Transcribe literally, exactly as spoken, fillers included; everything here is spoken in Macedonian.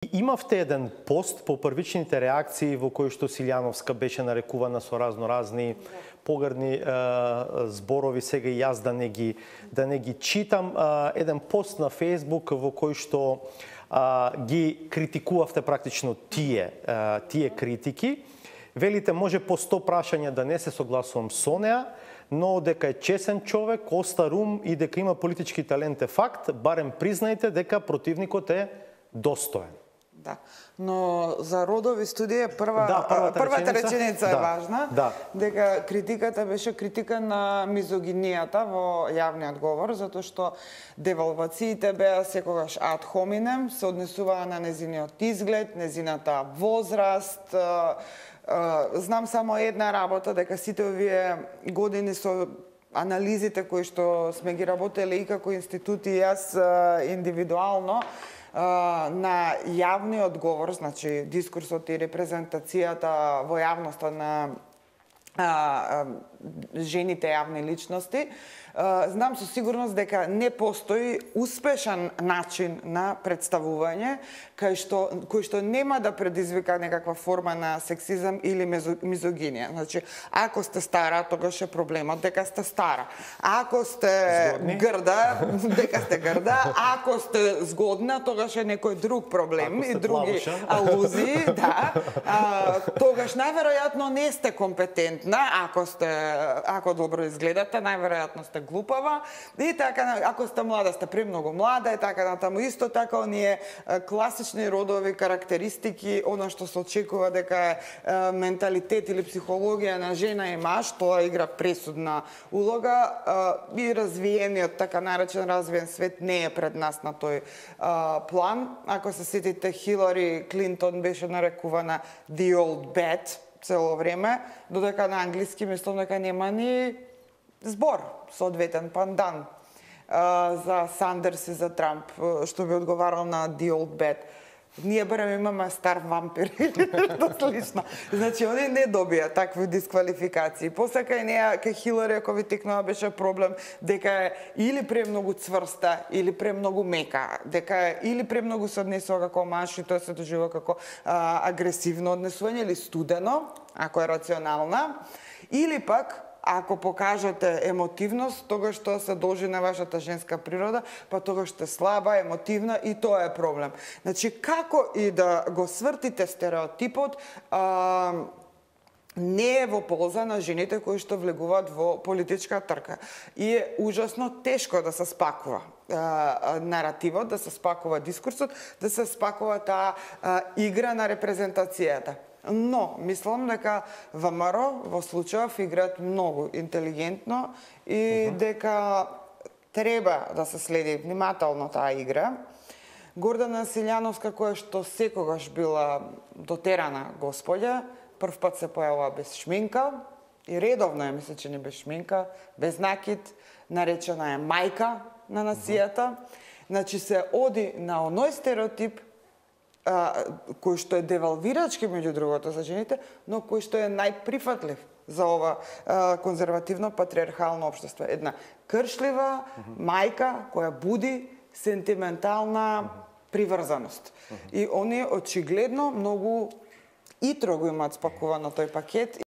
Имавте еден пост по првичните реакции во кој што Силјановска беше нарекувана со разноразни погрдни е, зборови, сега и јас да не ги да не ги читам, е, еден пост на Facebook во кој што е, ги критикувавте практично тие е, тие критики. Велите може по сто прашања да не се согласувам со неа, но дека е чесен човек, остар ум и дека има политички талент е факт, барем признајте дека противникот е достоен. Да, но за родови студија прва, да, првата, првата реченица, реченица е да, важна, да. дека критиката беше критика на мизогинијата во јавниот говор, затоа што девалвациите беа секогаш ад хоминем, се однесуваа на незиниот изглед, незината возраст. Знам само една работа, дека сите овие години со анализите кои што сме ги работеле и како институти и јас индивидуално, на јавниот говор, значи дискурсот и репрезентацијата во јавноста на а, а, жените јавни личности, а, знам со сигурност дека не постои успешен начин на представување кај што кој што нема да предизвика некаква форма на сексизам или мизогинија. Значи, ако сте стара, тогаш е проблемот дека сте стара. Ако сте згодни, грда, дека сте грда. Ако сте згодна, тогаш е некој друг проблем и други плавуша алузии, да. А, тогаш најверојатно не сте компетентна, ако сте ако добро изгледате, најверојатно сте глупава. И така, ако сте млада, сте премногу млада и така натаму. Исто така оние класични родови карактеристики, она што се очекува дека е менталитет или психологија на жена и маж, тоа игра пресудна улога и развиениот, така наречен развиен свет не е пред нас на тој план. Ако се сетите, Хилари Клинтон беше нарекувана the old bat цело време, додека на англиски мислам дека нема ни збор, соодветен пандан за Сандерс и за Трамп, што би одговарал на the old bat. Ние барем имаме стар вампир или нешто слично. Значи, они не добија такви дисквалификации. После кај неа, кај Хилари, ако ви текнува, беше проблем дека е или премногу цврста, или премногу мека, дека е или премногу се однесува како маж и тоа се доживува како а, агресивно однесување, или студено, ако е рационална, или пак ако покажете емотивност, тогаш тоа се должи на вашата женска природа, па тогаш сте слаба, емотивна и тоа е проблем. Значи, како и да го свртите стереотипот, а, не е во полза на жените кои што влегуваат во политичка трка. И е ужасно тешко да се спакува а, наративот, да се спакува дискурсот, да се спакува таа а, игра на репрезентацијата. Но, мислам дека ВМРО во случајов играат многу интелигентно и uh -huh. дека треба да се следи внимателно таа игра. Гордана Силјановска, која што секогаш била дотерана господја, прв пат се појавува без шминка и редовно е, мисля, че не без шминка, без накид, наречена е мајка на нацијата. Uh -huh. Значи се оди на оној стереотип кој што е девалвирачки меѓу другото за жените, но кој што е најприфатлив за ова а, конзервативно патриархално општество. Една кршлива uh -huh. мајка која буди сентиментална uh -huh. приврзаност. Uh -huh. И они очигледно многу итро го имаат спакувано тој пакет.